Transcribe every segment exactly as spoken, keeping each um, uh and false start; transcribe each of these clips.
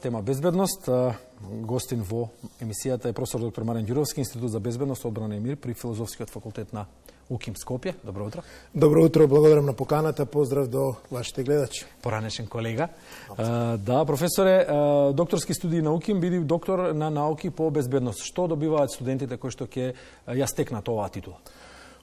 тема безбедност. Гостин во емисијата е професор доктор Марјан Ѓуровски, Институт за безбедност, одбрана и мир при Филозофскиот факултет на УКИМ Скопје. Добро утро. Добро утро, благодарам на поканата, поздрав до вашите гледачи. Поранешен колега. Uh, да, професоре, uh, докторски студии на УКИМ, биди доктор на науки по безбедност. Што добиваат студентите кои што ќе ја стекнат оваа титула?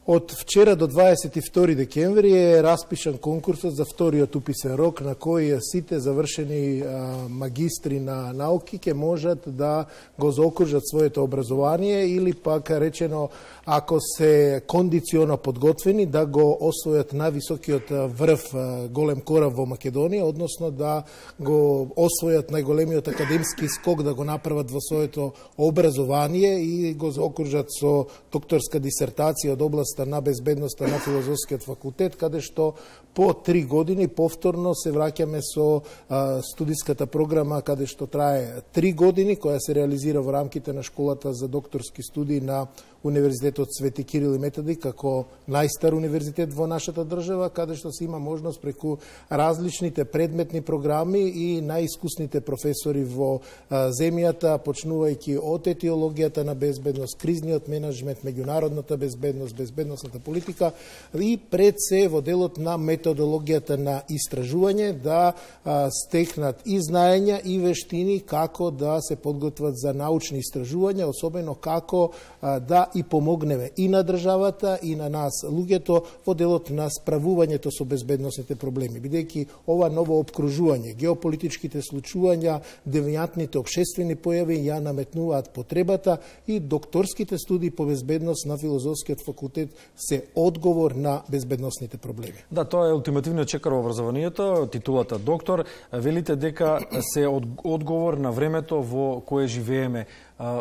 Од вчера до дваесет и втори декември е распишан конкурсот за вториот уписен рок на кој сите завршени а, магистри на науки ќе можат да го заокружат своето образование или пак речено, ако се кондиционо подготвени, да го освојат највисокиот врв голем кораб во Македонија, односно да го освојат најголемиот академски скок, да го направат во своето образование и го заокружат со докторска дисертација од областа на безбедноста на Филозофскиот факултет, каде што по три години повторно се враќаме со а, студиската програма, каде што трае три години, која се реализира во рамките на школата за докторски студии на Универзитетот Свети Кирил и Методи, како најстар универзитет во нашата држава, каде што се има можност преку различните предметни програми и најискусните професори во а, земјата, почнувајќи од етиологијата на безбедност, кризниот менеджмент, меѓународната безбедност, безбедносната политика и пред се во делот на методологијата на истражување да а, стекнат и знаења и вештини како да се подготват за научни истражувања, особено како а, да и помогнеме и на државата и на нас луѓето во делот на справувањето со безбедносните проблеми, бидејќи ова ново опкружување, геополитичките случувања, девијантните општествени појави ја наметнуваат потребата и докторските студии по безбедност на Филозофскиот факултет се одговор на безбедносните проблеми. Да, тоа е ултимативниот чекор во образованието, титулата доктор. Велите дека се одговор на времето во кое живееме.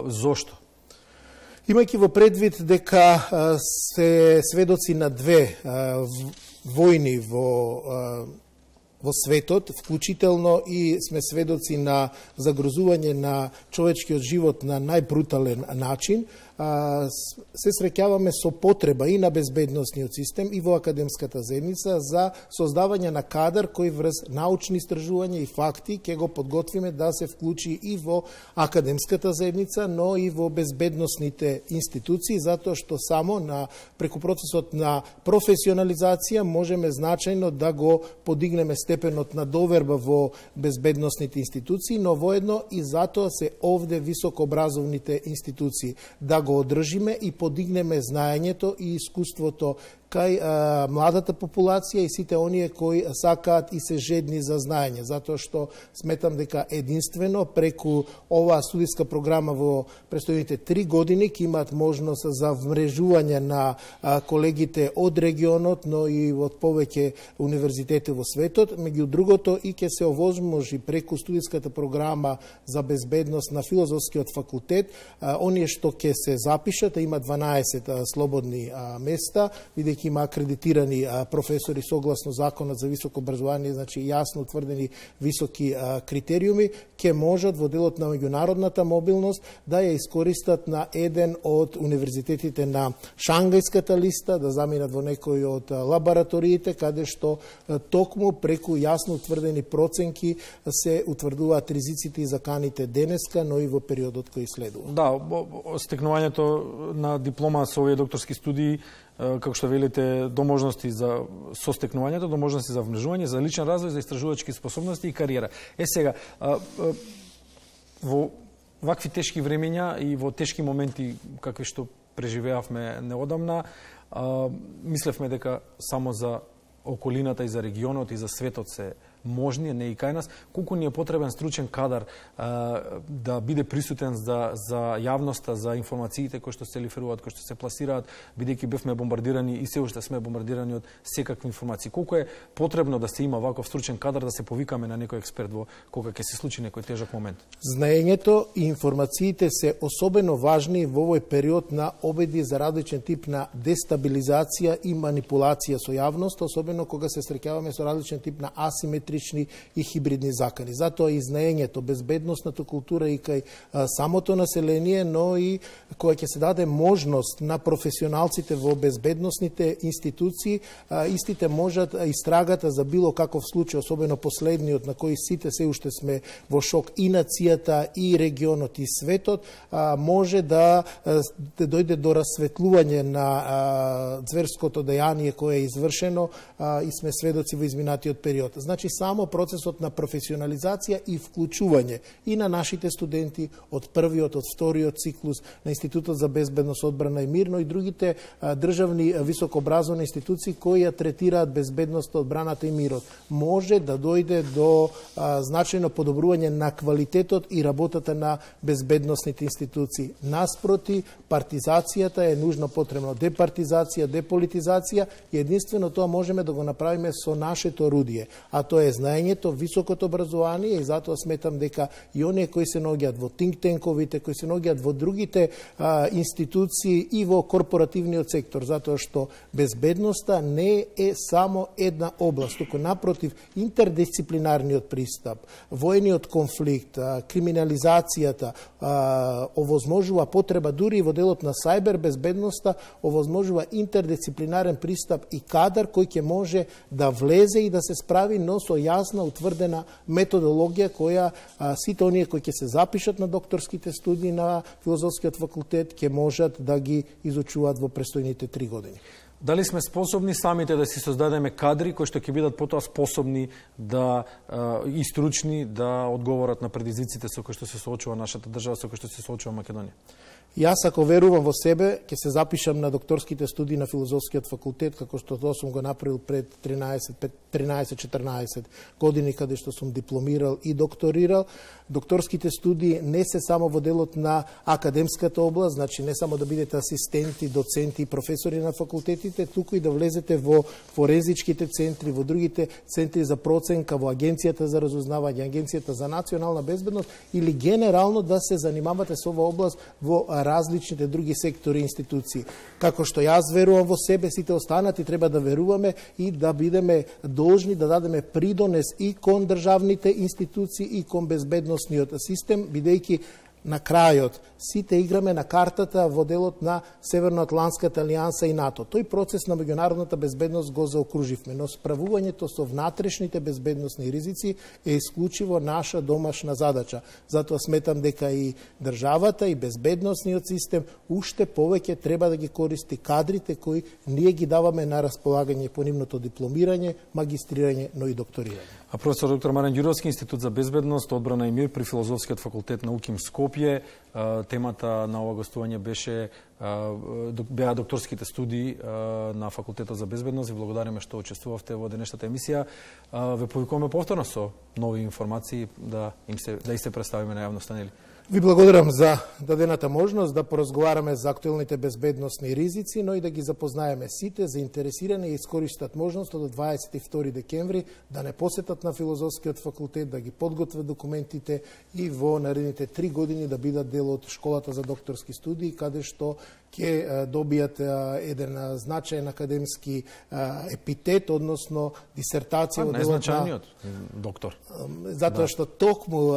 Зошто? Имајќи во предвид дека се сведоци на две војни во во светот, вклучително и сме сведоци на загрозување на човечкиот живот на најбрутален начин, се среќаваме со потреба и на безбедносниот систем и во академската заедница за создавање на кадар кој врз научни истражувања и факти ќе го подготвиме да се вклучи и во академската заедница, но и во безбедносните институции, затоа што само на преку процесот на професионализација можеме значајно да го подигнеме степенот на доверба во безбедносните институции, но воедно и затоа се овде високообразовните институции, да го одржиме и подигнеме знаењето и искуството кај а, младата популација и сите оние кои сакаат и се жедни за знаење, затоа што сметам дека единствено преку оваа студиска програма во престојните три години ќе имаат можност за вмрежување на а, колегите од регионот, но и од повеќе универзитети во светот. Меѓу другото и ќе се овозможи преку студиската програма за безбедност на Филозофскиот факултет, а, оние што ќе се запишат, има дванаесет а, слободни а, места, бидејќи има акредитирани а, професори согласно Законот за високо образование, значи јасно утврдени високи а, критериуми, ќе можат во делот на меѓународната мобилност да ја искористат на еден од универзитетите на Шангајската листа, да заминат во некој од а, лабораториите, каде што а, токму преку јасно утврдени проценки се утврдуваат ризиците и заканите денеска, но и во периодот кој следува. Да, стекнувањето на диплома со овие докторски студии, како што велите, до можности за состекнувањето, до можности за вмрежување, за личен развој, за истражувачки способности и кариера. Е сега, во вакви тешки времења и во тешки моменти какви што преживеавме неодамна, мислевме дека само за околината и за регионот и за светот се можни, не и кај нас, колку ни е потребен стручен кадар а, да биде присутен за, за јавноста, за информациите кои што се лиферуваат, кои што се пласираат, бидејќи бевме бомбардирани и се уште сме бомбардирани од секакви информации. Колку е потребно да се има ваков стручен кадар, да се повикаме на некој експерт во кога ќе се случи некој тежок момент? Знаењето и информациите се особено важни во овој период на обиди за различен тип на дестабилизација и манипулација со јавност, особено кога се среќаваме со различен тип на асиметрија асиметрични и хибридни закани. Затоа и знаењето, безбедносната култура и кај самото население, но и која ќе се даде можност на професионалците во безбедносните институции, истите можат истрагата за било каков случај, особено последниот на кој сите се уште сме во шок, и нацијата, и регионот, и светот, може да, да дојде до расветлување на зверското дејание кое е извршено и сме сведоци во изминатиот период. Значи, само процесот на професионализација и вклучување и на нашите студенти од првиот, од вториот циклус на Институтот за безбедност, одбрана и мир, но и другите државни високообразовни институции кои ја третираат безбедноста, одбраната и мирот, може да дојде до а, значајно подобрување на квалитетот и работата на безбедносните институции. Наспроти, партизацијата е нужно потребно. Департизација, деполитизација, и единствено тоа можеме да го направиме со нашето орудие, а тоа е знаењето, високото образование, и затоа сметам дека и оние кои се наоѓаат во think-танковите, кои се наоѓаат во другите а, институции и во корпоративниот сектор, затоа што безбедноста не е само една област, туку напротив, интердисциплинарниот пристап, војниот конфликт, а, криминализацијата а, овозможува потреба дури и во делот на сајбер безбедноста, овозможува интердисциплинарен пристап и кадар кој ќе може да влезе и да се справи, но со јасна утврдена методологија која а, сите оние кои ќе се запишат на докторските студии на Филозофскиот факултет ќе можат да ги изучуваат во престојните три години. Дали сме способни самите да си создадеме кадри кои што ќе бидат потоа способни да и стручни да одговорат на предизвиците со кои што се соочува нашата држава, со кои што се соочува Македонија? Јас, ако верувам во себе, ќе се запишам на докторските студии на Филозофскиот факултет, како што тоа сум го направил пред тринаесет четрнаесет години, каде што сум дипломирал и докторирал. Докторските студии не се само во делот на академската област, значи не само да бидете асистенти, доценти и професори на факултетите, туку и да влезете во форензичките центри, во другите центри за проценка, во Агенцијата за разузнавање, Агенцијата за национална безбедност, или генерално да се занимавате со оваа област во различните други сектори и институции. Како што јас верувам во себе, сите останати треба да веруваме и да бидеме должни да дадеме придонес и кон државните институции и кон безбедносниот систем, бидејќи на крајот сите играме на картата во делот на Северноатлантската алијанса и НАТО. Тој процес на меѓународната безбедност го заокруживме, но справувањето со внатрешните безбедносни ризици е исклучиво наша домашна задача. Затоа сметам дека и државата и безбедносниот систем уште повеќе треба да ги користи кадрите кои ние ги даваме на располагање по нивното дипломирање, магистрирање, но и докторирање. А професор доктор Марен Ѓуровски, Институт за безбедност, одбрана и мир при Филозофскиот факултет на УКИМ Скопје. Темата на ова гостување беше беа докторските студии на Факултетот за безбедност. Ви благодариме што учествувавте во денешната емисија. Ве повикуваме повторно со нови информации да им се да и се представиме на јавноста, нели? Ви благодарам за дадената можност да поразговараме за актуелните безбедносни ризици, но и да ги запознаеме сите заинтересирани и искористат можноста до дваесет и втори декември да не посетат на Филозофскиот факултет, да ги подготвят документите и во наредните три години да бидат дел од школата за докторски студии, каде што ќе добијат еден значаен академски епитет, односно дисертација од делот на доктор. Затоа што токму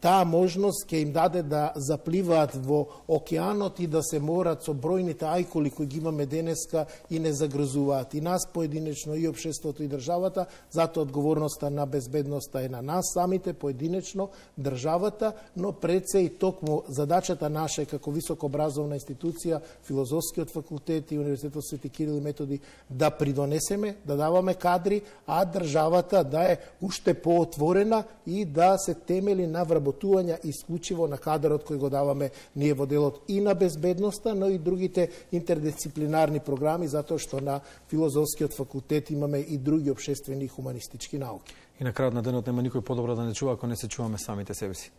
таа можност ќе им даде да запливаат во океанот и да се морат со бројните ајкули кои ги имаме денеска и не загрозуваат и нас поединечно, и општеството, и државата. Затоа одговорноста на безбедноста е на нас самите, поединечно, државата, но пред се и токму задачата наша како високообразовна институција, Филозофскиот факултет и Универзитетот Свети Кирил и Методи да придонесеме, да даваме кадри, а државата да е уште поотворена и да се темели на вработување исклучиво на кадарот кој го даваме ние во делот и на безбедноста, но и другите интердисциплинарни програми, затоа што на Филозофскиот факултет имаме и други општествени и хуманистички науки. И на крајот на денот нема никој подобро да не чува ако не се чуваме самите себе си.